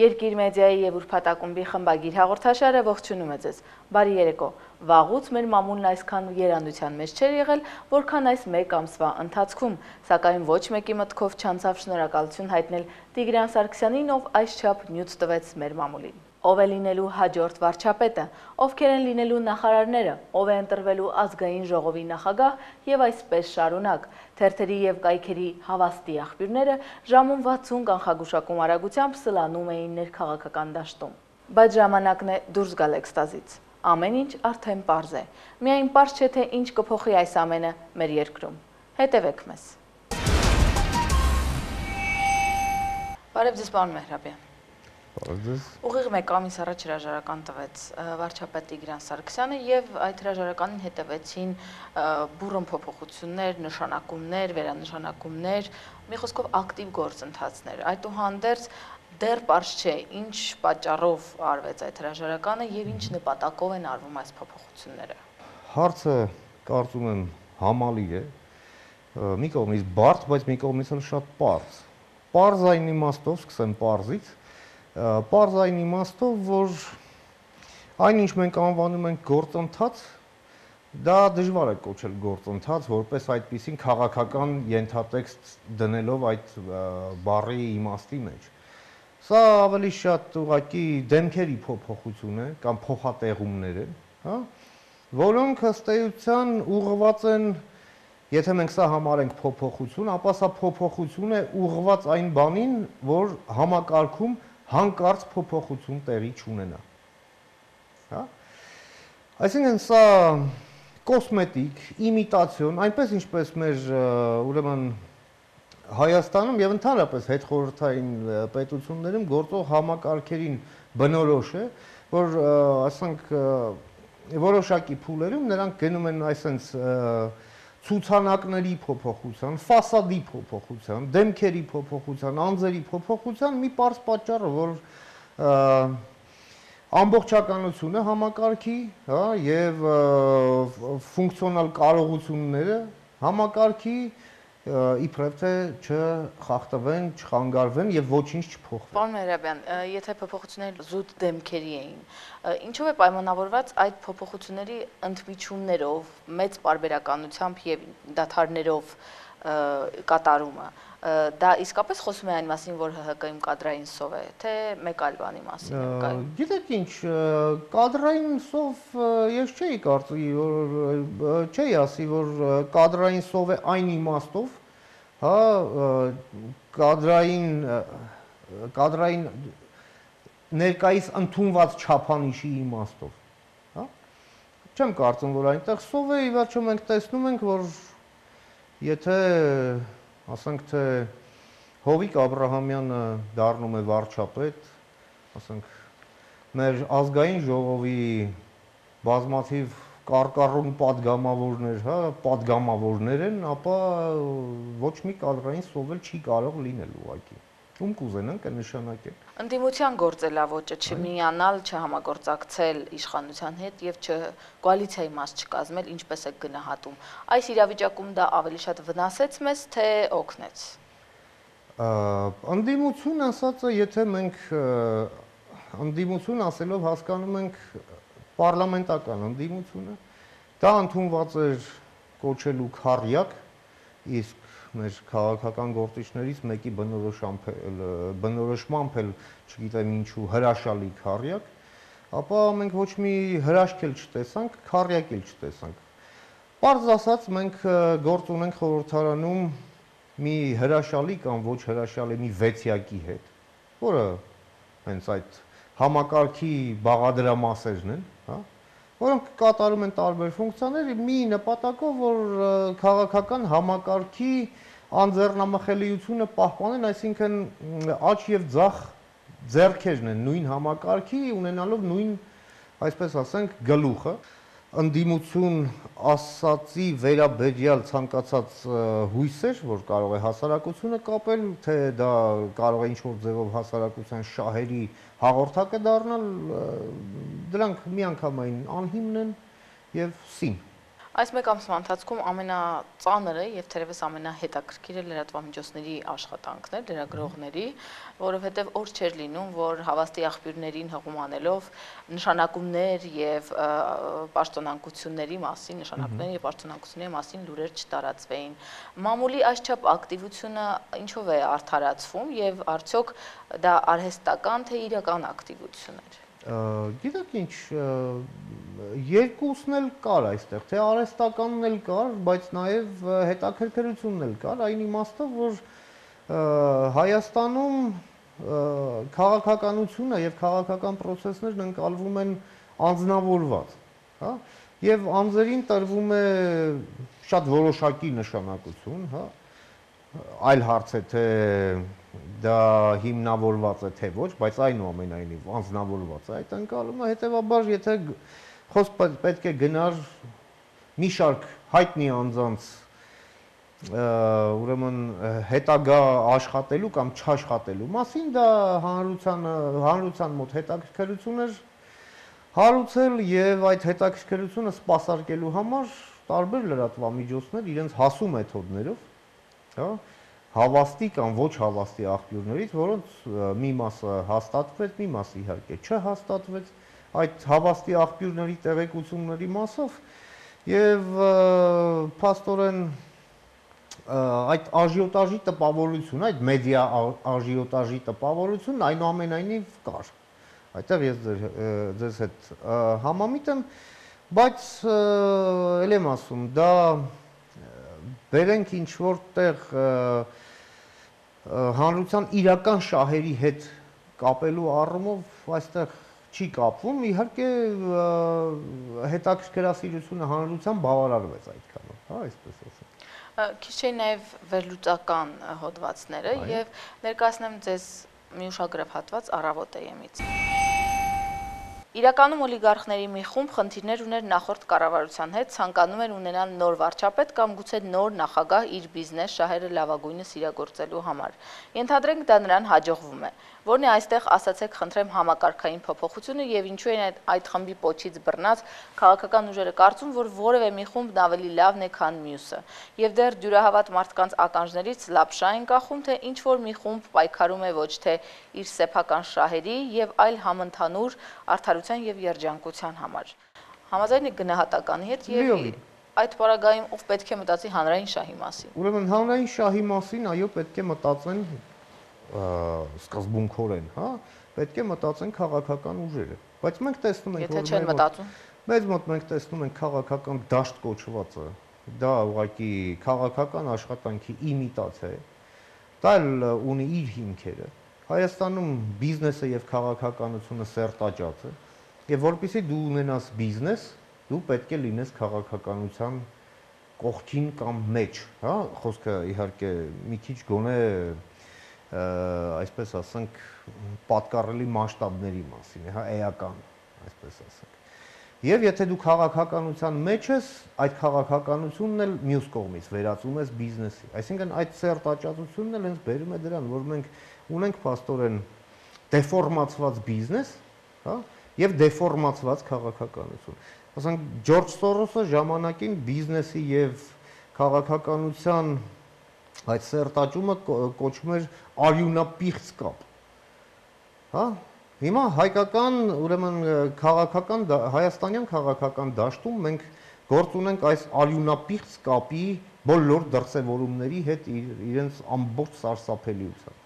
Երկիր մեդիայի և ուրբաթակումբի խմբագիր հաղորդաշարը ողջունում է ձեզ։ Բարի երեկո։ Վաղուց մեր մամուլն այսքան եռանդության մեջ չէր եղել, որքան այս մեկ ամսվա ընթացքում, սակայն ոչ մեկի մտքով չանցավ շնորհակալություն հայտնել Տիգրան Սարգսյանին, ով այսչափ նյութ տվեց մեր մամուլին։ Ով է լինելու հաջորդ վարչապետը, ովքեր են լինելու նախարարները, ով է ընտրվելու ազգային ժողովի նախագահ եւ այսպես շարունակ։ Թերթերի եւ կայքերի հավաստի աղբյուրները ժամում 60 կանխագուշակում արագությամբ սլանում էին ներքաղաքական դաշտում։ Բայց ժամանակն է դուրս գալ էքստազից։ Ամեն ինչ արդեն պարզ է։ Միայն պարզ չէ, թե ինչ կփոխի այս ամենը մեր երկրում։ Հետևեք մեզ։ Բարև ձեզ, պարոն Մեհրաբյան։ Ուղիղ մեկ ամիս առաջ հրաժարական տվեց վարչապետ Տիգրան Սարգսյանը եւ այդ հրաժարականին հետևեցին բուռն փոփոխություններ, նշանակումներ, վերանշանակումներ, մի խոսքով ակտիվ գործընթացներ։ Այդուհանդերձ դեռ պարզ չէ ինչ պատճառով արվեց այդ հրաժարականը եւ ինչ նպատակով են արվում այս փոփոխությունները։ Հարցը կարծում եմ համալի է, մի կողմից բարդ, բայց մի կողմից էլ շատ պարզ։ Պարզ այն իմաստով, սկսեմ պարզից, պարզ այն իմաստով, որ այն ինչ մենք անվանում ենք գործընթաց, դա դժվար է կոչել գործընթաց, որպես այդպիսին քաղաքական ենթատեքստ դնելով այդ բառի իմաստի մեջ։ Սա ավելի շատ ուղղակի դեմքերի փոփոխություն է կամ փոխատեղումներ են, հա, որոնք ըստ էության ուղղված են, եթե մենք սա համարենք փոփոխություն, ապա սա փոփոխություն է ուղղված այն բանին, որ համակարգում հանկարծ փոփոխություն տեղի չունենա։ Հա? Այսինքն սա կոսմետիկ, իմիտացիոն, այնպես ինչպես մեր ուրեմն Հայաստանում եւ ընդհանրապես հետխորհրդային պետություններում գործող համակարգերին բնորոշ է, որ ասենք որոշակի փուլերում նրանք գնում են այսպես ցուցանակների փոփոխության, ֆասադի փոփոխության, դեմքերի փոփոխության, անձերի փոփոխության մի պարզ պատճառը, որ ամբողջականությունը համակարգի, հա, եւ ֆունկցիոնալ կարողությունները համակարգի իբրև թե չխախտվեն, չխանգարվեն եւ ոչինչ չփոխվի։ Պարոն Մեհրաբյան, եթե փոփոխությունները զուտ դեմքերի էին, ինչով է պայմանավորված այդ փոփոխությունների ընդմիջումներով, մեծ պարբերականությամբ եւ դադարներով կատարումը։ Դա իսկապես խոսում է այն մասին, որ ՀՀԿ-ում կադրային սով է, թե մեկ այլ բանի մասին է կայում։ Գիտեք ինչ, կադրային սով ես չէի կարծի, որ չէի ասի, որ կադրային սով է այն իմաստով, հա, կադրային ներկայիս ընդունված չափանիշի իմաստով, հա։ Չեմ կարծում, որ այնտեղ սով է, ի վերջո մենք տեսնում ենք, որ եթե ասենք թե Հովիկ Աբրահամյանը դառնում է վարչապետ, ասենք մեր ազգային ժողովի բազմաթիվ կարկառուն պատգամավորներ, հա, պատգամավորներ են, ապա ոչ մի կադրային սով էլ չի կարող լինել ուղղակի։ Ում կուզենան կնշանակեն։ Ընդդիմության գործելավոճը չմիանալ, չհամագործակցել իշխանության հետ եւ կոալիցիայի մաս չկազմել, ինչպես է գնահատում։ Այս իրավիճակում դա ավելի շատ վնասեց մեզ, թե օգնեց։ Ընդդիմություն ասածը, եթե մենք ընդդիմություն ասելով հասկանում ենք պարլամենտական ընդդիմությունը, դա ընդունված էր կոչելու քառյակ, իսկ մեր քաղաքական գործիչներից մեկի բնորոշմամբ էլ, չգիտեմ ինչու, հրաշալի քառյակ, ապա մենք ոչ մի հրաշք էլ չտեսանք, քառյակ էլ չտեսանք։ Պարզ ասած, մենք գործ ունենք խորհրդարանում մի հրաշալի կամ ոչ հրաշալի մի վեցյակի հետ, որը հենց այդ համակարգի բաղադրամասերն են, հա, որոնք կատարում են տարբեր ֆունկցիաներ մի նպատակով, որ քաղաքական համակարգի անձեռնամխելիությունը պահպանեն, այսինքն աջ եւ ձախ ձեռքերն են նույն համակարգի ունենալով նույն, այսպես ասենք, գլուխը։ Ընդդիմություն ասացի վերաբերյալ ցանկացած հույսեր, որ կարող է հասարակությունը կապել, թե դա կարող է ինչ-որ ձևով հասարակության շահերի հաղորդակը դառնալ, դրանք միանգամայն անհիմն են եւ սին։ Այս մեկ ամսվա ընթացքում ամենածանրը եւ թերևս ամենահետաքրքիրը լրատվամիջոցների աշխատանքն էր, լրագրողների, որովհետեւ օր չէր լինում, որ հավաստի աղբյուրներին հղում անելով նշանակումներ եւ պաշտոնանկությունների մասին, նշանակումների եւ պաշտոնանկությունների մասին լուրեր չտարածվեին։ Մամուլի այսչափ ակտիվությունը ինչով է արդարացվում եւ արդյոք դա արհեստական թե իրական ակտիվություն էր։ Գիտեք ինչ, երկուսն էլ կար այստեղ, թե արհեստականն էլ կար, բայց նաև հետաքրքրությունն էլ կար, այն իմաստով, որ Հայաստանում քաղաքականությունը եւ քաղաքական process-ներն ընկալվում են անձնավորված, հա, եւ անձերին տրվում է շատ որոշակի նշանակություն, հա, այլ հարց է թե դա հիմնավորված է թե ոչ, բայց այնուամենայնիվ անձնավորված է այդ ընկալումը, հետեւաբար եթե խոսք պետք է գնար մի շարք հայտնի անձանց ուրեմն հետագա աշխատելու կամ չաշխատելու մասին, դա հանրության մոտ հետաքրքրություն էր հարուցել եւ այդ հետաքրքրությունը սպասարկելու համար տարբեր լրատվամիջոցներ իրենց հասու մեթոդներով, հա, հավաստի կամ ոչ հավաստի աղբյուրներից, որոնց մի մասը հաստատվեց, մի մասը իհարկե չհաստատվեց, այդ հավաստի աղբյուրների տեղեկությունների մասով եւ փաստորեն այդ աժիոտաժի տպավորությունը, այդ մեդիա աժիոտաժի տպավորությունն այնուամենայնիվ կար։ Այդտեղ ես ձեզ հետ համամիտ եմ, բայց ել եմ ասում, դա բերենք ինչ որտեղ հանրության իրական շահերի հետ կապելու առումով այստեղ չի կապվում, իհարկե հետաքրքրասիրությունը հանրության բավարարվեց այդքանով, հա, այսպես ասեմ։ Քիչ չէ նաև վերլուծական հոդվածները եւ ներկայացնեմ ձեզ մի ուշագրավ հատված Առավոտ.am-ից։ Իրականում օլիգարխների մի խումբ խնդիրներ ուներ նախորդ կառավարության հետ, ցանկանում էր ունենալ նոր վարչապետ կամ գուցե նոր նախագահ իր բիզնես շահերը լավագույնս իրագործելու համար։ Ենթադրենք դա նրան հաջողվում է։ Որն է այստեղ, ասացեք, խնդրեմ, համակարգային փոփոխությունը եւ ինչու են այդ խմբի պոչից բռնած քաղաքական ուժերը կարծում, որ որևէ մի խումբն ավելի լավն է, քան մյուսը։ Եվ դեռ դյուրահավատ մարդկանց ականջներից լապշա են կախում, թե ինչ որ մի խումբ պայքարում է ոչ թե իր սեփական շահերի եւ այլ համընդհանուր արդարության եւ երջանկության համար։ Համաձայն եք գնահատականի հետ եւ այդ պարագայում ով պետք է մտածի հանրային շահի մասին։ Ուրեմն հանրային շահի մասին, այո, պետք է մտածեն սկզբունքորեն, հա, պետք է մտածեն քաղաքական ուժերը, բայց մենք տեսնում ենք, որ չեն մտածում։ Մեզ մոտ մենք տեսնում ենք քաղաքական դաշտ կոչվածը, դա ուղղակի քաղաքական աշխատանքի իմիտացիա է, դա ունի իր հիմքերը։ Հայաստանում բիզնեսը եւ քաղաքականությունը սերտաճած է, եւ որpիսի դու ունենաս բիզնես, դու պետք է լինես քաղաքականության կողքին կամ մեջ, հա, խոսքը իհարկե մի քիչ գոնե այսպես ասենք պատկառելի մասշտաբների մասին է, հա, էական, այսպես ասենք։ Եվ եթե դու քաղաքականության մեջ ես, այդ քաղաքականությունն էլ մյուս կողմից վերածում ես բիզնեսի։ Այսինքն այդ սերտաճածությունն էլ հենց բերում է դրան, որ մենք ունենք փաստորեն դեֆորմացված բիզնես, հա, եւ դեֆորմացված քաղաքականություն։ Ասենք Ջորջ Սորոսը ժամանակին բիզնեսի եւ քաղաքականության այդ սերտաճումը կոչվում էր արյունապիղծ կապ։ Հա, հիմա հայկական, ուրեմն քաղաքական հայաստանյան քաղաքական դաշտում մենք գործ ունենք այս արյունապիղծ կապի բոլոր դրսևորումների հետ իրենց ամբողջ սարսափելիությամբ։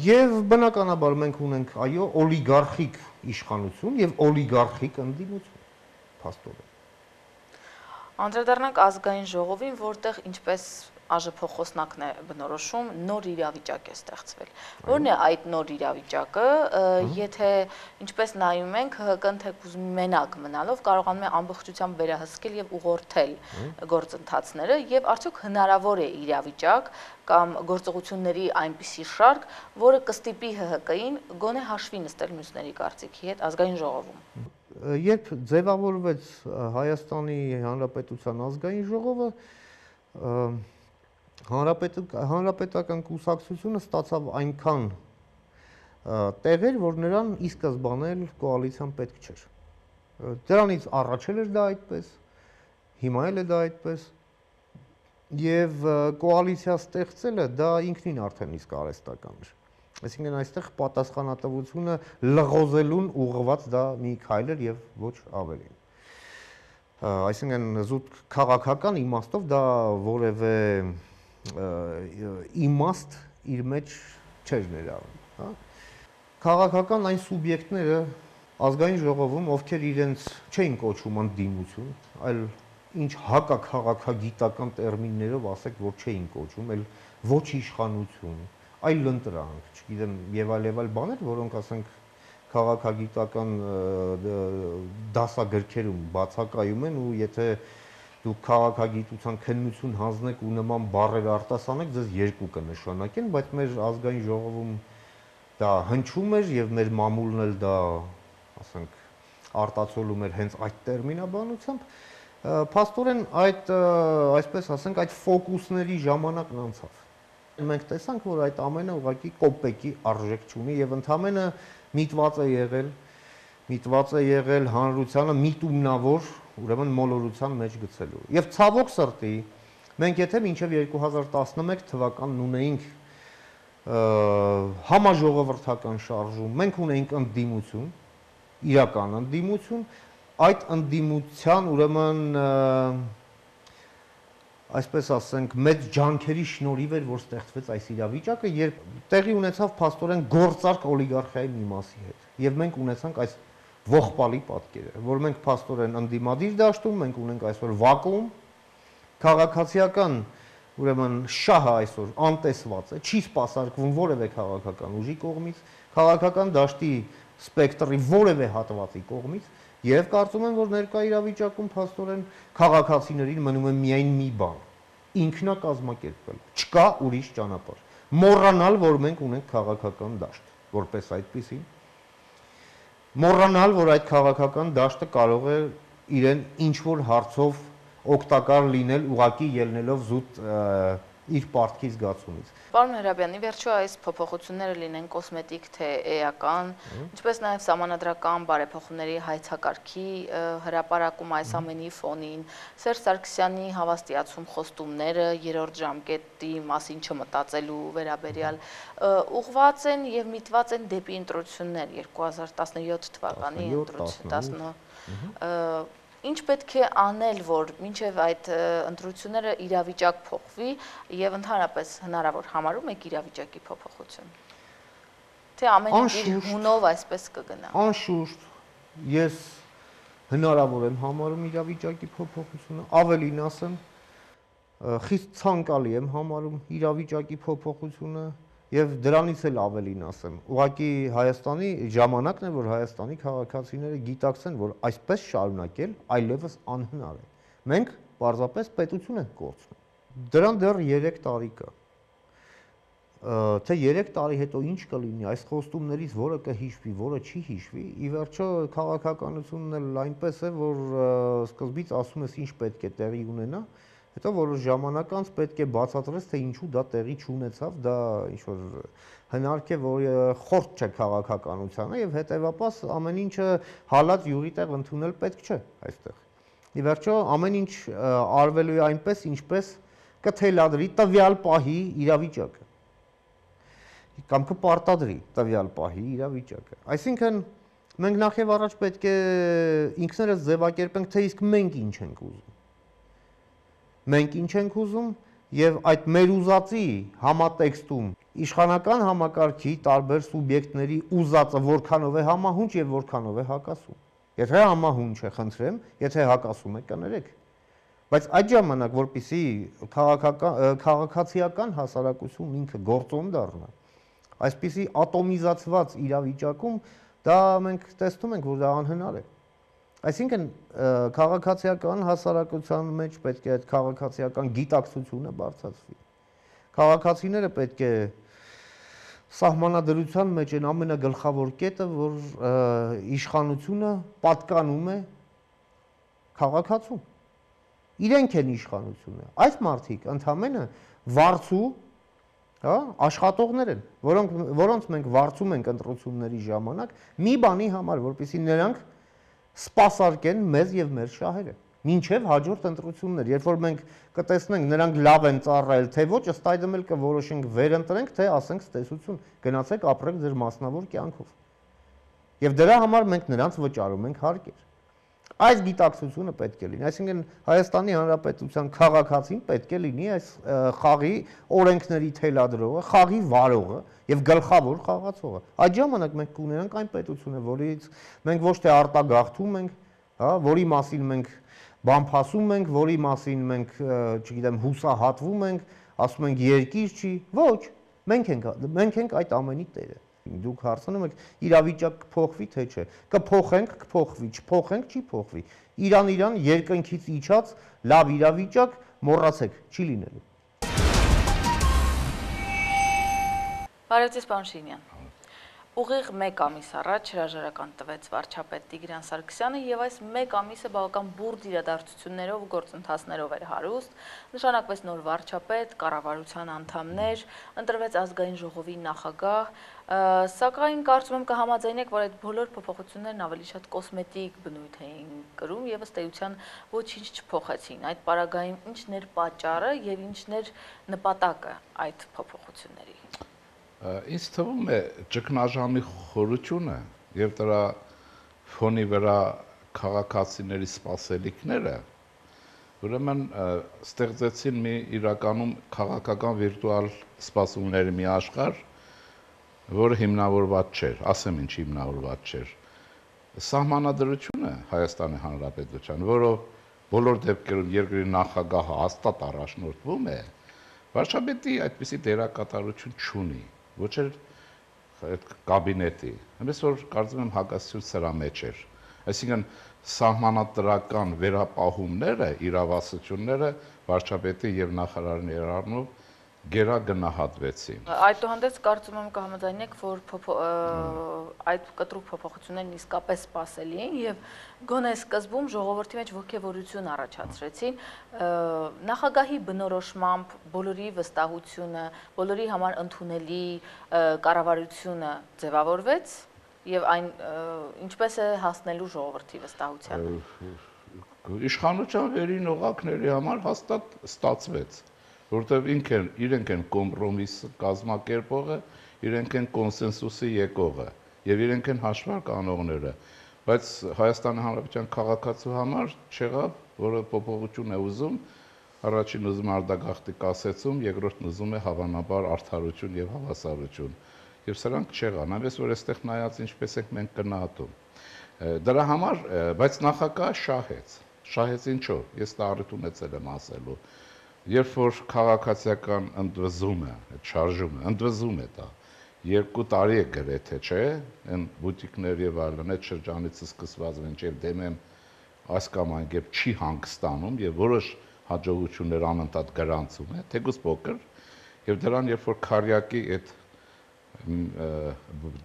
Եվ բնականաբար մենք ունենք այո օլիգարխիկ իշխանություն եւ օլիգարխիկ ընդդիմություն, փաստորեն։ Անդրադառնանք ազգային ժողովին, որտեղ ինչպես ԱԺՓ-խոսնակն է բնորոշում, նոր իրավիճակ է ստեղծվել։ Որն է այդ նոր իրավիճակը, եթե ինչպես նայում ենք, ՀՀԿ-ն թեկուզ մենակ մնալով կարողանում է ամբողջությամբ վերահսկել եւ ուղղորդել գործընթացները եւ արդյոք հնարավոր է իրավիճակ կամ գործողությունների այնպիսի շարք, որը կստիպի ՀՀԿ-ին գոնե հաշվի նստել մյուսների կարծիքի հետ ազգային ժողովում։ Երբ ձևավորվեց Հայաստանի Հանրապետության ազգային ժողովը, հանրապետական կուսակցությունը ստացավ այնքան տեղեր, որ նրան ի սկզբանե կոալիցիան պետք չէր։ Դրանից առաջ էր դա այդպես, հիմա էլ է դա այդպես, եւ կոալիցիա ստեղծելը դա ինքնին արդեն իսկ արհեստական էր։ Այսինքն այստեղ պատասխանատվությունը լղոզելուն ուղղված դա մի քայլ էր եւ ոչ ավելին։ Այսինքն զուտ քաղաքական իմաստով դա որևէ իմաստ իր մեջ չէր ներառում, հա։ Քաղաքական այն սուբյեկտները ազգային ժողովում, ովքեր իրենց չէին կոչում ընդդիմություն, այլ ինչ հակաքաղաքագիտական տերմիններով ասեք, որ չէին կոչում, այլ ոչ իշխանություն, այլ ընտրանք, չգիտեմ, եւ այլ բաներ, որոնք ասենք քաղաքագիտական դասագրքերում բացակայում են ու եթե դուք քաղաքագիտության քննություն հանձնեք ու նման բառեր արտասանեք, ձեզ երկու կնշանակեն, բայց մեր ազգային ժողովում դա հնչում էր եւ մեր մամուլն էլ դա, ասենք, արտացոլում էր հենց այդ տերմինաբանությամբ, փաստորեն այդ, այսպես ասենք, այդ ֆոկուսների ժամանակն անցավ։ Մենք տեսանք, որ այդ ամենը ուղղակի կոպեկի արժեք չունի եւ ընդամենը միտված է եղել հանրությանը միտումնավոր, ուրեմն մոլորության մեջ գցելու։ Եվ ցավոք սրտի, մենք եթե մինչև 2011 թվականն ունեինք համաժողովրդական շարժում, մենք ունեինք ընդդիմություն, իրական ընդդիմություն, այդ ընդդիմության ուրեմն այսպես ասենք, մեծ ջանքերի շնորհիվ էր, որ ստեղծվեց այս իրավիճակը, երբ տեղի ունեցավ փաստորեն գործարք օլիգարխիայի մի մասի հետ։ Եվ մենք ունեցանք այս ողբալի պատկերը, որ մենք փաստորեն ընդդիմադիր դաշտում, մենք ունենք այսօր վակուում, քաղաքացիական, ուրեմն շահը այսօր անտեսված է, չի սպասարկվում որևէ քաղաքական ուժի կողմից, քաղաքական դաշտի սպեկտրի որևէ հատվածի կողմից, եւ կարծում եմ, որ ներկա իրավիճակում փաստորեն քաղաքացիներին մնում է միայն մի բան՝ ինքնակազմակերպվել, չկա ուրիշ ճանապարհ, մոռանալ, որ մենք ունենք քաղաքական դաշտ, որպես այդպիսին, մոռանալ, որ այդ քաղաքական դաշտը կարող է իրեն ինչ-որ հարցով օգտակար լինել, ուղղակի ելնելով զուտ իր պարտքի զգացումից։ Պարոն Հրաբյան, ի վերջո այս փոփոխությունները լինեն կոսմետիկ թե էական, ինչպես նաև սահմանադրական բարեփոխումների հայցակարգի հրապարակում այս ամենի ֆոնին, Սերժ Սարգսյանի հավաստիացում խոստումները երրորդ ժամկետի մասին չմտածելու վերաբերյալ ուղղված են եւ միտված են դեպի ընտրություններ 2017 թվականի ընտրություն, Ինչ պետք է անել, որ մինչև այդ ընտրությունները իրավիճակ փոխվի եւ ընդհանրապես հնարավոր համարում եք իրավիճակի փոփոխություն։ Թե ամեն ինչ իր հունով այսպես կգնա։ Անշուշտ, ես հնարավոր եմ համարում իրավիճակի փոփոխությունը, ավելին ասեմ, խիստ ցանկալի եմ համարում իրավիճակի փոփոխությունը եւ դրանից էլ ավելին ասեմ, ուղղակի Հայաստանի ժամանակն է, որ Հայաստանի քաղաքացիները գիտակցեն, որ այսպես շարունակել այլևս անհնար է։ Մենք պարզապես պետություն ենք կորցնում։ Դրան դեռ 3 տարի կա։ Թե 3 տարի հետո ինչ կլինի, այս խոստումներից որը կհիշվի, որը չի հիշվի, ի վերջո քաղաքականությունն էլ այնպես է, որ սկզբից ասում ես ինչ պետք է տեղի ունենա, հետո որոշ ժամանակ անց պետք է բացատրես, թե ինչու դա տեղի չունեցավ, դա ինչ-որ հնարք է, որ խորտ չէ քաղաքականությանը եւ հետեւաբար ամեն ինչը հալած յուղի տեղ ընդունել պետք չէ այստեղ։ Ի վերջո ամեն ինչ արվելու է այնպես, ինչպես կթելադրի տվյալ պահի իրավիճակը կամ կպարտադրի տվյալ պահի իրավիճակը։ Այսինքն մենք նախ եւ առաջ պետք է ինքներս ձևակերպենք, թե իսկ մենք ինչ ենք ուզում։ Մենք ինչ ենք ուզում եւ այդ մեր ուզածի համատեքստում իշխանական համակարգի տարբեր սուբյեկտների ուզածը որքանով է համահունչ եւ որքանով է հակասում։ Եթե համահունչ է, խնդրեմ, եթե հակասում է, կներեք։ Բայց այդ ժամանակ, որպեսզի քաղաքացիական հասարակություն ինքը գործոն դառնա, այսպիսի ատոմիզացված իրավիճակում դա մենք տեսնում ենք, որ դա անհնար է։ Այսինքն քաղաքացիական հասարակության մեջ պետք է այդ քաղաքացիական գիտակցությունը բարձրացվի։ Քաղաքացիները պետք է սահմանադրության մեջ են ամենագլխավոր կետը, որ իշխանությունը պատկանում է քաղաքացուն։ Իրենք են իշխանությունը։ Այս մարդիկ ընդհանրապես վարձու, հա, աշխատողներ են, որոնց մենք վարձում ենք ընտրությունների ժամանակ մի բանի համար, որպեսզի նրանք սպասարկեն մեզ եւ մեր շահերը։ Մինչև հաջորդ ընտրություններ, երբ որ մենք կտեսնենք նրանք լավ են ծառայել, թե ոչ, ըստ այդմ էլ կորոշենք վերընտրենք, թե ասենք ստեսություն, գնացեք ապրեք ձեր մասնավոր կյանքով։ Եվ դրա համար մենք նրանց վճարում ենք հարկեր։ Այս գիտակցությունը պետք է լինի, այսինքն Հայաստանի Հանրապետության քաղաքացին պետք է լինի այս խաղի օրենքների թելադրողը, խաղի վարողը եւ գլխավոր խաղացողը։ Այդ ժամանակ մենք կունենանք այն պետությունը, որից մենք ոչ թե արտագաղթում ենք, հա, որի մասին մենք բամփասում ենք, որի մասին մենք, չգիտեմ, հուսահատվում ենք, ասում ենք երկիր չի, ոչ, մենք ենք այդ ամենի տերը։ Դուք հարցնում եք իրավիճակ կփոխվի թե չէ, կփոխենք, կփոխվի, չփոխենք, չի փոխվի։ Իրան երկնքից իջած լավ իրավիճակ մոռացեք, չի լինելու։ Բարև ձեզ, պարոն Շինյան։ Ուղիղ 1 ամիս առաջ հրաժարական տվեց վարչապետ Տիգրան Սարգսյանը եւ այս 1 ամիսը բավական բուրդ իրադարձություններով ու գործընթացներով էր հարուստ, նշանակվեց նոր վարչապետ, կառավարության անդամներ, ընտրվեց ազգային ժողովի նախագահ, սակայն կարծում եմ կհամաձայնեք, որ այդ բոլոր փոփոխություններն ավելի շատ կոսմետիկ բնույթ էին կրում եւ ըստ էության ոչինչ չփոխեցին։ Այդ պարագայում ինչն էր պատճառը եւ ինչն էր նպատակը այդ փոփոխությունների։ Ինձ թվում է ճգնաժամի խորությունը եւ դրա ֆոնի վրա քաղաքացիների սպասելիքները ուրեմն ստեղծեցին մի իրականում քաղաքական վիրտուալ սպասումների մի աշխարհ, որը հիմնավորված չէր, ասեմ ինչ հիմնավորված չէր։ Սահմանադրությունը Հայաստանի Հանրապետության, որով բոլոր դեպքերում երկրի նախագահը հաստատ առաջնորդվում է, վարչապետի այդպիսի դերակատարություն չունի, ոչ էլ այդ կաբինետի։ Այնպես որ կարծում եմ հակասություն սրա մեջ էր։ Այսինքն սահմանադրական վերապահումները, իրավասությունները վարչապետի եւ նախարարի ներառնով գերագնահատվեցին։ Այդուհանդերձ կարծում եմ կհամաձայնեք, որ այդ կտրուկ փոփոխություններն իսկապես սպասելի են եւ գոնե սկզբում ժողովրդի մեջ ոգևորություն առաջացրեցին նախագահի բնորոշմամբ բոլորի վստահությունը, բոլորի համար ընդունելի կառավարությունը ձևավորվեց եւ այն ինչպես է հասնելու ժողովրդի վստահությանը։ Իշխանության վերին օղակների համար հաստատ ստացվեց, որտեղ իրենք են կոմպրոմիս կազմակերպողը, իրենք են կոնսենսուսի եկողը եւ իրենք են հաշվարկ անողները, բայց Հայաստանի Հանրապետության քաղաքացու համար չեղավ, որը փոփոխություն է ուզում, առաջին ուզում արտագաղթի կասեցում, երկրորդն ուզում է հավանաբար արդարություն եւ հավասարություն։ Եվ սրանք չեղան, այնպես որ այստեղ նայած ինչպես ենք մենք գնահատում։ Դրա համար, բայց նախագահը շահեց ինչով, ես դա առիթ ունեցել եմ ասելու։ Երբ որ քաղաքացիական ընդվզումը, այդ շարժումը, ընդվզում է դա, 2 տարի է գրեթե, չէ, այն բուտիկներ եւ այլն, այդ շրջանից սկսված մինչեւ դեմեմ այս կամ այն կերպ չի հանգստանում եւ որոշ հաջողություններ անընդհատ գրանցում է, թեկուզ փոքր, եւ դրան երբ որ քարյակի այդ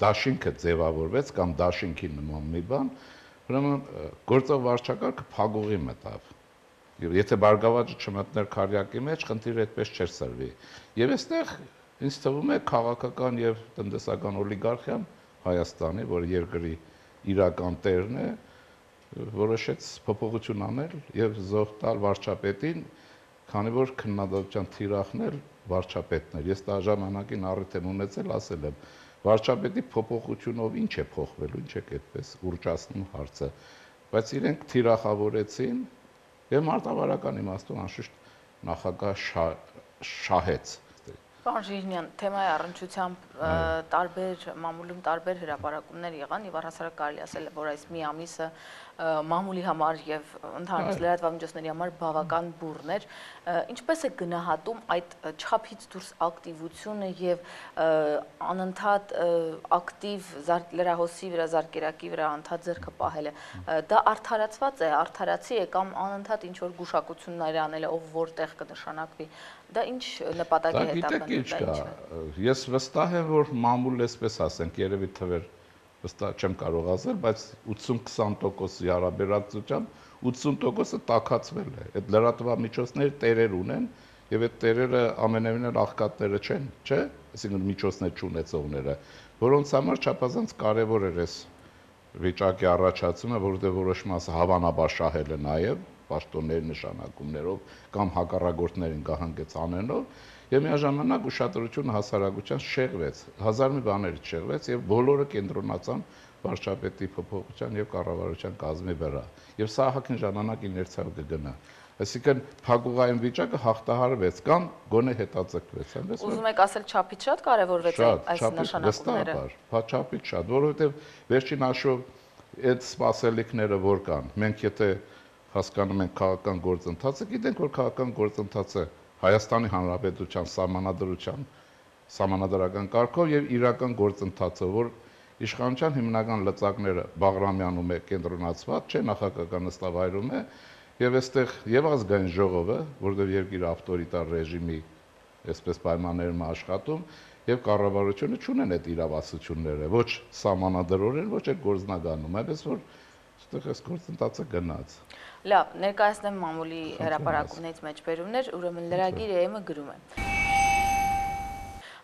դաշինքը ձևավորվեց կամ դաշինքի նման մի բան, ուրեմն գործող վարչակարգը փակուղի մտավ։ Եվ եթե բարգավաճը չմտներ քարյակի մեջ, խնդիրը այդպես չէր սրվի։ Եվ այստեղ ինձ թվում է քաղաքական եւ տնտեսական օլիգարխիան Հայաստանի, որ երկրի իրական տերն է, որոշեց փոփոխություն անել եւ զոհ տալ վարչապետին, քանի որ քննադատության թիրախներ վարչապետն էր։ Ես դա ժամանակին առիթ եմ ունեցել, ասել եմ, վարչապետի փոփոխությունով ինչ է փոխվելու, ինչ է այդպես ուռճացնում հարցը, բայց իրենք թիրախավորեցին եւ մարտավարական իմաստուն անշուշտ նախագահ շահեց։ Պարոն Շիրինյան, թեմայի առնչությամբ տարբեր մամուլում տարբեր հրապարակումներ եղան եւ առհասարակ կարելի ասել որ այս մի ամիսը մամուլի համար եւ ընդհանրապես լրատվամիջոցների համար բավական բուռն էր։ Ինչպես է գնահատում այդ չափից դուրս ակտիվությունը եւ անընդհատ ակտիվ լրահոսի վրա, զարկերակի վրա անդադ ձեռքը պահելը։ Դա արդարացված է, արդարացի է կամ անընդհատ ինչ որ գուշակություններ անել է, ով որտեղ կնշանակվի։ Դա ինչ նպատակի հետապնդում։ Ես վստահ եմ, որ մամուլը այսպես ասենք, երևի թվեր վստահ չեմ կարող ասել, բայց 80-20%-ի հարաբերակցությամբ 80%-ը տաքացվել է։ Այդ լրատվամիջոցները տերեր ունեն եւ այդ տերերը ամենևին էլ աղքատները չեն, չէ՞, այսինքն միջոցներ չունեցողները, որոնց համար չափազանց կարեւոր էր այս վիճակի առաջացումը, որովհետև որոշ մասը հավանաբար շահել է նաև պաշտոնների նշանակումներով կամ հակառակորդներին կահանգեց անենով, եւ միաժամանակ ուշադրությունը հասարակության շեղվեց, հազար մի բաներից շեղվեց եւ բոլորը կենտրոնացան վարչապետի փոփոխության եւ կառավարության կազմի վրա։ Եվ սա ահագին ժամանակ իներցիայով կգնա։ Այսինքն փակուղային վիճակը հաղթահարվեց կամ գոնե հետաձգվեց, այնպես որ Ուզում եք ասել չափից շատ կարևորվեց այս նշանակումները։ Չափից շատ, որովհետև վերջին հաշվով այդ սպասելիքները որ կան, մենք եթե հասկանում ենք քաղաքական գործընթացը, գիտենք որ քաղաքական գործընթացը Հայաստանի Հանրապետության սահմանադրական կարգով եւ իրական գործընթացը, որ իշխանության հիմնական լծակները Բաղրամյանում է կենտրոնացված, չէ նախագահական նստավայրում է, եւ այստեղ եւ ազգային ժողովը, որովհետեւ երկիրը ավտորիտար ռեժիմի այսպես պայմաններում աշխատում, եւ կառավարությունը չունեն այդ իրավասությունները, ոչ սահմանադրորեն, ոչ էլ գործնագանում, այնպես որ այստեղ այս գործընթացը գնաց։ Լավ, ներկայացնեմ մամուլի հրապարակումներից մեջբերումներ, ուրեմն լրագիր ԵՄ գրում է.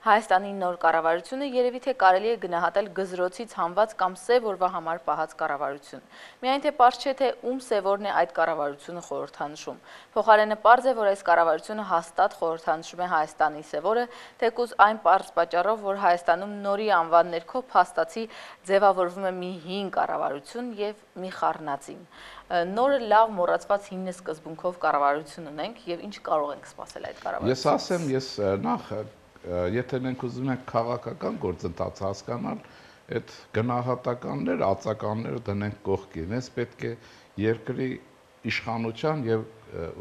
Հայաստանի նոր կառավարությունը երևի թե կարելի է գնահատել գզրոցից հանված կամ սև օրվա համար պահած կառավարություն։ Միայն թե պարզ չէ թե ում սևորն է այդ կառավարությունը խորհրդանշում։ Փոխարենը պարզ է, որ այս կառավարությունը հաստատ խորհրդանշում է Հայաստանի սևորը, թեկուզ այն պարզ պատճառով, որ Հայաստանում նորի անվան ներքո փաստացի ձևավորվում է մի հին կառավարություն եւ մի խառնածին։ Նորը լավ մոռացված հին սկզբունքով կառավարություն ունենք եւ ինչ կարող ենք սպասել այդ կառավարությունից։ Ես ասեմ, ես նախ եթե մենք ուզում ենք քաղաքական գործընթաց հասկանալ, այդ գնահատականներ, ածականները դնենք կողքին, ես պետք է երկրի իշխանության եւ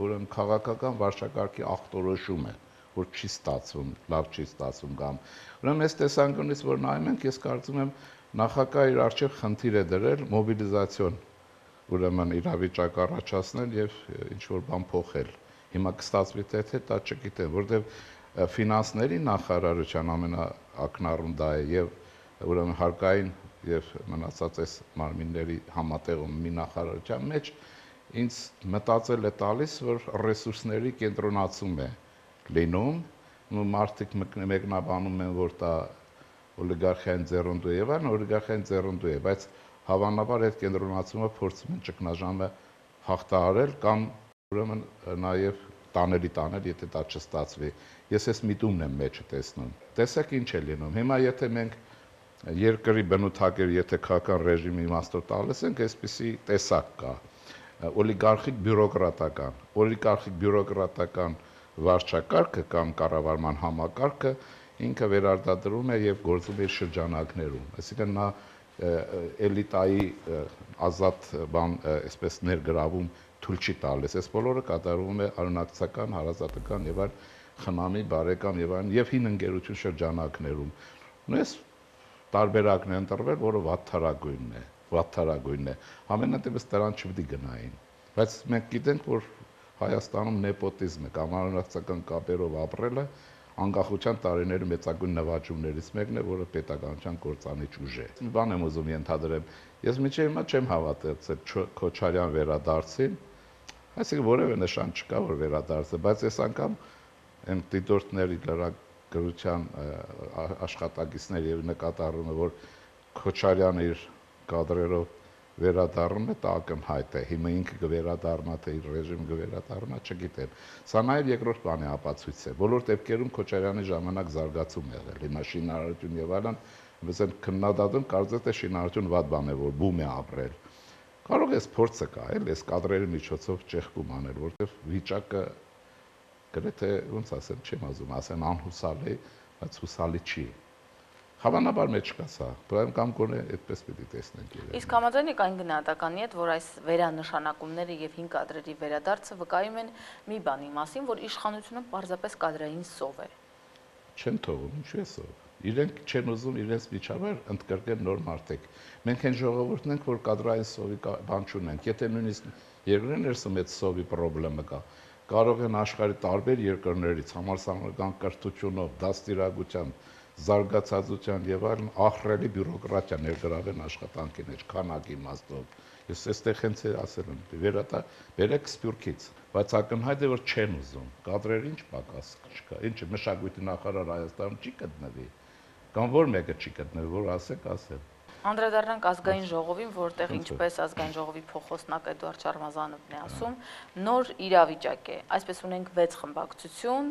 ուրեմն քաղաքական վարչակարգի ախտորոշումը, որ չի ստացվում, լավ չի ստացվում կամ ուրեմն այս տեսանկյունից որ նայում ենք, ես կարծում եմ նախագահը իր առջև խնդիր է դրել մոբիլիզացիոն, ուրեմն իրավիճակ առաջացնել եւ ինչ որ բան փոխել։ Հիմա կստացվի թե դա չգիտեմ, որովհետեւ ֆինանսների նախարարության ամենաակնառուն դա է եւ ուրեմն հարկային եւ մնացած այս մարմինների համատեղում մի նախարարության մեջ ինձ մտածել է տալիս, որ ռեսուրսների կենտրոնացում է լինում, մարդիկ մեկնաբանում են, որ դա օլիգարխիային ձեռնդու է եւ այլն, օլիգարխիային ձեռնդու է, բայց հավանաբար այդ կենտրոնացումը փորձում են ճգնաժամը հաղթահարել կամ ուրեմն նաեւ տանել, եթե դա չստացվի։ Ես այս միտումն եմ մեջը տեսնում։ Տեսեք ինչ է լինում։ Հիմա եթե մենք երկրի բնութագիր, եթե քաղաքական ռեժիմի իմաստով տալիս ենք, այսպիսի տեսակ կա։ Օլիգարխիկ բյուրոկրատական վարչակարգը կամ կառավարման համակարգը ինքը վերարտադրում է եւ գործում է շրջանակներում։ Այսինքն նա էլիտայի ազատ բան, այսպես ներգրավում թույլ չի տալիս։ Այս բոլորը կատարվում է արունակցական, հարազատական եւ այլ խնամի, բարեկամ եւ այլն եւ հին ընկերություն շրջանակներում։ Ունես տարբերակն է ընտրվել, որը վատթարագույնն է։ Ամենատիպս դրան չպետք է գնային։ Բայց մենք գիտենք, որ Հայաստանում նեպոտիզմը կամ արունակցական կապերով ապրելը անկախության տարիների մեծագույն նվաճումներից մեկն է, որը պետականության կործանիչ ուժ է։ Մի բան եմ ուզում ենթադրեմ։ Ես մինչև հիմա չեմ հավատացել Քոչարյան վերադարձին, այսինքն որևէ նշան չկա, որ վերադարձը, բայց այս անգամ այն դիտորդների լրագրության աշխատակիցների եւ նկատառումը, որ Քոչարյանը իր կադրերով վերադառնում է, դա ակնհայտ է։ Հիմա ինքը կվերադառնա, թե իր ռեժիմը կվերադառնա, չգիտեմ։ Սա նաև երկրորդ բանի ապացույց է։ Բոլոր դեպքերում Քոչարյանի ժամանակ զարգացում է եղել։ Հիմա շինարարություն եւ այլն, mēs են քննադատում, կարծես թե շինարարություն վատ բան է, որ բում է ապրել։ Կարող է փորձը կա, էլ այս կադրերի միջոցով ճեղքում անել, որտեղ վիճակը գրեթե ոնց ասեմ, չեմ ասում, ասեն անհուսալի, բայց հուսալի չի։ Հավանաբար մեջ կա սա, բայց կամ կոնե այդպես պիտի տեսնենք իրեն։ Իսկ համաձայն եք այն գնահատականի հետ, որ այս վերանշանակումները եւ հին կադրերի վերադարձը վկայում են մի բանի մասին, որ իշխանությունը պարզապես կադրային սով է։ Չեն թողում, ինչու է սով։ Իրենք չեն ուզում իրենց միջավայր ընդգրկել նոր մարդիկ։ Մենք այն ժողովուրդն ենք, որ կադրային սովի բան չունենք։ Եթե նույնիսկ երկրի ներսում այդ սովի խնդրեմը կա, կարող են աշխարհի տարբեր երկրներից համալսարանական կրթությունով, դաստիարակությամբ, զարգացածության եւ այլն ահռելի բյուրոկրատիա ներգրավել աշխատանքի մեջ, քանակի իմաստով։ Ես այստեղ հենց ասել եմ, վերեք Սփյուռքից, բայց ակնհայտ է որ չեն ուզում։ Կադրեր ինչ պակաս չկա։ Ինչը մշակույթի նախարար Հայաստանում չի գտնվի, կամ որ մեկը չի գտնվի, որ ասեք, ասել։ Անդրադառնանք ազգային ժողովին, որտեղ ինչպես ազգային ժողովի փոխոսնակ Էդուարդ Շարմազանովն է ասում, նոր իրավիճակ է։ Այսպես ունենք 6 խմբակցություն,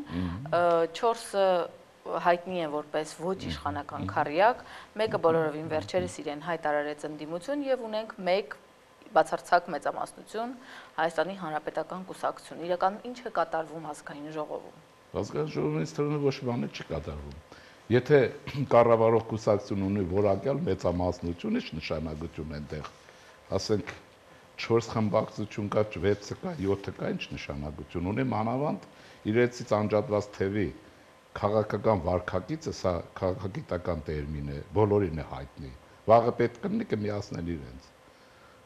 4-ը հայտնի են որպես ոչ իշխանական քառյակ, մեկը բոլորովին վերջերս իրեն հայտարարեց ընդդիմություն եւ ունենք 1 բացարձակ մեծամասնություն Հայաստանի Հանրապետական կուսակցություն։ Իրականում ինչ է կատարվում ազգային ժողովում։ Ազգային ժողովից թվում է ոչ մի բան չի կատարվում։ Եթե կառավարող կուսակցություն ունի որակյալ մեծամասնություն, ինչ նշանակություն է այնտեղ։ Ասենք 4 խմբակցություն կա, 6 կա, 7 կա, ինչ նշանակություն ունի մանավանդ իրենցից անջատված թևի քաղաքական վարքագիծը, սա քաղաքագիտական տերմին է, բոլորին է հայտնի։ Վաղը պետք կլինի կմիացնել իրենց։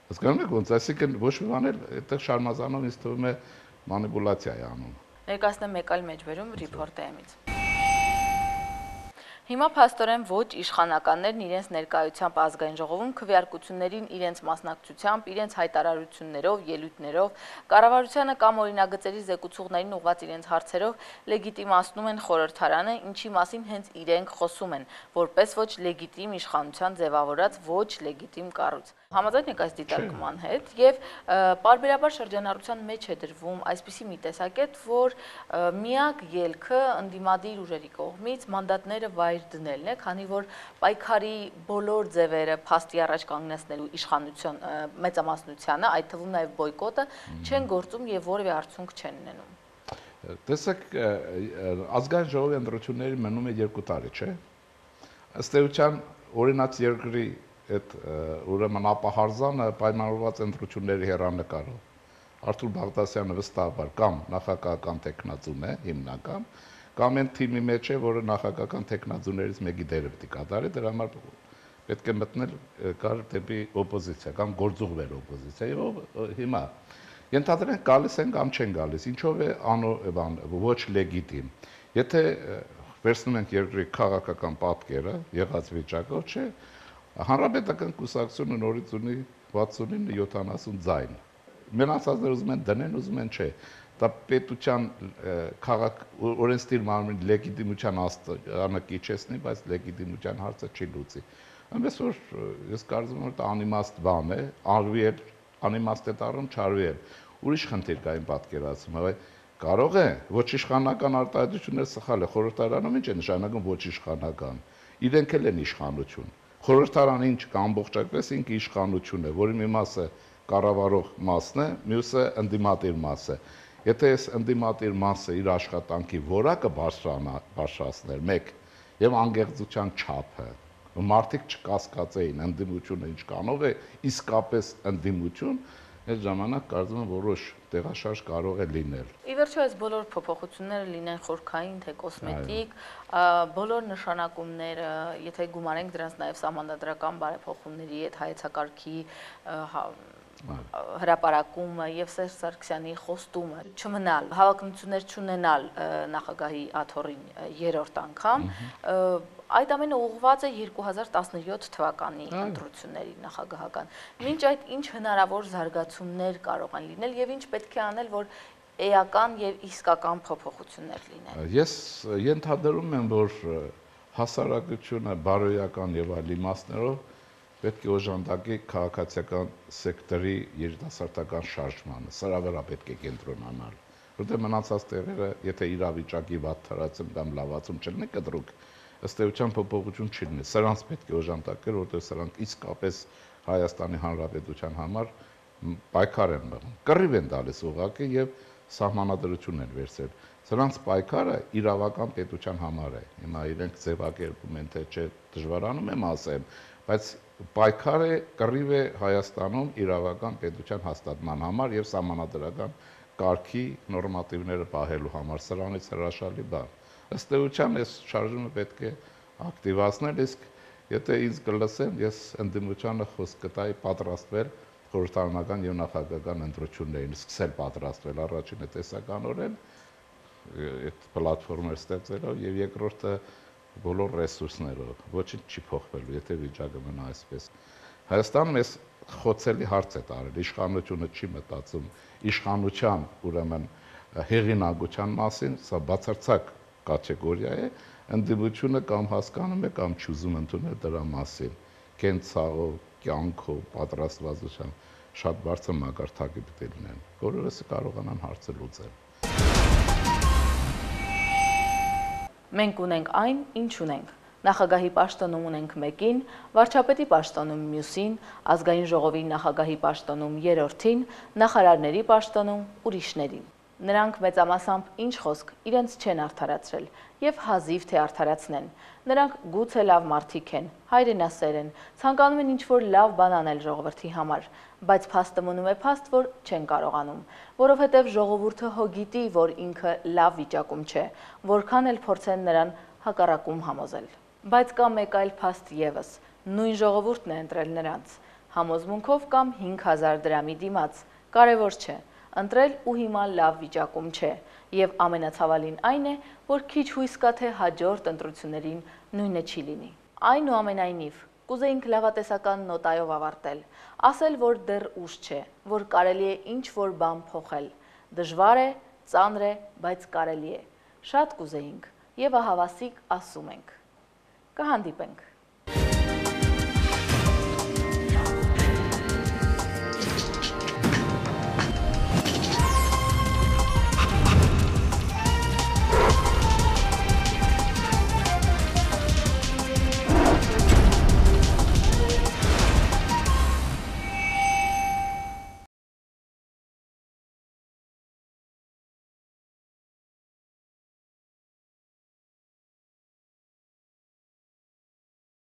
Հասկանում եք ոնց, այսինքն ոչ մի բան էլ այդտեղ Շարմազանով ինձ թվում է մանիպուլյացիա է անում։ Ներկայացնեմ մեկ այլ մեջբերում Reporter-ից։ Հիմա փաստորեն ոչ իշխանականներն իրենց ներկայությամբ ազգային ժողովում քվեարկություններին իրենց մասնակցությամբ, իրենց հայտարարություններով, ելույթներով, կառավարությանը կամ օրինագծերի զեկուցողներին ուղղված իրենց հարցերով լեգիտիմացնում են խորհրդարանը, ինչի մասին հենց իրենք խոսում են, որպես ոչ լեգիտիմ իշխանության ձևավորած ոչ լեգիտիմ կառույց։ Համաձայն եք այս դիտարկման հետ եւ պարբերաբար շրջանառության մեջ է դրվում այսպիսի մի տեսակետ, որ միակ ելքը ընդդիմադիր ուժերի կողմից մանդատները վայր դնելն է, քանի որ պայքարի բոլոր ձևերը փաստի առաջ կանգնեցնելու իշխանություն մեծամասնությանը, այդ թվում նաեւ բոյկոտը չեն գործում եւ որևէ արդյունք չեն ունենում։ Տեսեք, ազգային ժողովի ընտրությունների մնում է 2 տարի, չէ՞։ Ըստ էության օրինաց երկրի այդ ուրեմն ապահարզանը պայմանավորված ընտրությունների հեռանկարով Արթուր Բաղդասյանը վստահաբար կամ նախագահական տեխնացուն է հիմնական, կամ այն թիմի մեջ է, որը նախագահական տեխնացուներից մեկի դերը պետք է կատարի, դրա համար պետք է մտնել կար դեպի օպոզիցիա կամ գործուղվեր օպոզիցիա եւ հիմա ենթադրենք գալիս են կամ չեն գալիս, ինչով է ոչ լեգիտիմ։ Եթե վերցնում ենք երկրի քաղաքական պատկերը, եղած վիճակով, չէ, Հանրապետական կուսակցությունը նորից ունի 69-70 ձայն։ Մնացածները ուզում են դնեն, ուզում են չէ։ Դա պետության քաղաք օրենսդիր մարմնի լեգիտիմության աստանը կիչեցնի, բայց լեգիտիմության հարցը չի լուծի։ Այնպես որ ես կարծում եմ, որ դա անիմաստ բան է, արվի էլ անիմաստ է դառնում, չարվի էլ։ Ուրիշ խնդիր կա իմ պատկերացում, հավայ կարող է ոչ իշխանական արտահայտությունները սխալ է, խորհրդարանում ինչ է նշանակում ոչ իշխանական։ Իրենք էլ են իշխանություն։ Խորհրդարանը ինչ կա ամբողջակպես ինքը իշխանություն է, որի մի մասը կառավարող մասն է, մյուսը ընդդիմադիր մասը։ Եթե այս ընդդիմադիր մասը իր աշխատանքի որակը բարձրացներ, 1 եւ անկեղծության չափը, մարդիկ չկասկածեին ընդդիմությունը ինչ կանով է, իսկապես ընդդիմություն, այդ ժամանակ կարծում եմ որոշ տեղաշարժ կարող է լինել։ Ի վերջո այս բոլոր փոփոխությունները լինեն խորքային թե կոսմետիկ, բոլոր նշանակումները, եթե գումարենք դրանց նաև սահմանադրական բարեփոխումների հետ հայեցակարգի հրապարակումը եւ Սերժ Սարգսյանի խոստումը չմնալ, հավակնություններ չունենալ նախագահի աթոռին 3-րդ անգամ, այդ ամենը ուղղված է 2017 թվականի ընտրությունների նախագահական։ Մինչ այդ ինչ հնարավոր զարգացումներ կարող են լինել եւ ինչ պետք է անել, որ էական եւ իսկական փոփոխություններ լինեն։ Ես ենթադրում եմ, որ հասարակությունը բարոյական եւ այլ իմաստներով պետք է օժանդակի քաղաքացիական սեկտորի երիտասարդական շարժմանը, սրա վրա պետք է կենտրոնանալ, որտեղ մնացած տեղերը, եթե իրավիճակի վատթարացում կամ լավացում չլինի, կտրուկ ըստ էության փոփոխություն չի լինի, սրանց պետք է օժանդակել, որտեղ սրանք իսկապես Հայաստանի Հանրապետության համար պայքար են մղում, կռիվ են տալիս ուղղակի եւ սահմանադրություն են վերցրել։ Սրանց պայքարը իրավական պետության համար է։ Հիմա իրենք ձևակերպում են, թե չէ, դժվարանում եմ ասեմ, բայց պայքար է, կռիվ է Հայաստանում իրավական պետության հաստատման համար եւ սահմանադրական կարգի նորմատիվները պահելու համար, սրանից հրաշալի բան։ Ըստ էության այս շարժումը պետք է ակտիվացնել, իսկ եթե ինձ կլսեն, ես ընդդիմությանը խոսք կտայի պատրաստվել խորհրդարանական եւ նախագահական ընտրություններին, սկսել պատրաստվել առաջինը տեսականորեն այդ պլատֆորմեր ստեղծելով եւ երկրորդը բոլոր ռեսուրսներով, ոչինչ չի փոխվելու, եթե վիճակը մնա այսպես։ Հայաստանում էս խոցելի հարց է տարել, իշխանությունը չի մտածում իշխանության, ուրեմն հեղինակության մասին, սա բացարձակ կատեգորիա է, ընդդիմությունը կամ հասկանում է կամ չուզում ընդունել դրա մասին։ կենցաղով, կյանքով, պատրաստվածությամբ շատ բարձր մակարդակի պետք է լինեն, որովհետեւ կարողանան հարցը լուծել։ Մենք ունենք այն, ինչ ունենք։ Նախագահի պաշտոնում ունենք մեկին, վարչապետի պաշտոնում մյուսին, ազգային ժողովի նախագահի պաշտոնում երրորդին, նախարարների պաշտոնում ուրիշներին։ Նրանք մեծամասամբ ինչ խոսք իրենց չեն արդարացրել եւ հազիվ թե արդարացնեն։ Նրանք գուցե լավ մարդիկ են, հայրենասեր են, ցանկանում են ինչ-որ լավ բան անել ժողովրդի համար, բայց փաստը մնում է փաստ, որ չեն կարողանում, որովհետեւ ժողովուրդը հո գիտի, որ ինքը լավ վիճակում չէ, որքան էլ փորձեն նրան հակառակում համոզել։ Բայց կա մեկ այլ փաստ եւս, նույն ժողովուրդն է ընտրել նրանց, համոզմունքով կամ 5000 դրամի դիմաց, կարևոր չէ, ընտրել ու հիմա լավ վիճակում չէ, եւ ամենացավալին այն է, որ քիչ հույս կա, թե հաջորդ ընտրություններին նույնը չի լինի։ Այնուամենայնիվ, կուզեինք լավատեսական նոտայով ավարտել, ասել, որ դեռ ուշ չէ, որ կարելի է ինչ-որ բան փոխել, դժվար է, ծանր է, բայց կարելի է, շատ կուզեինք եւ ահավասիկ ասում ենք։ Կհանդիպենք։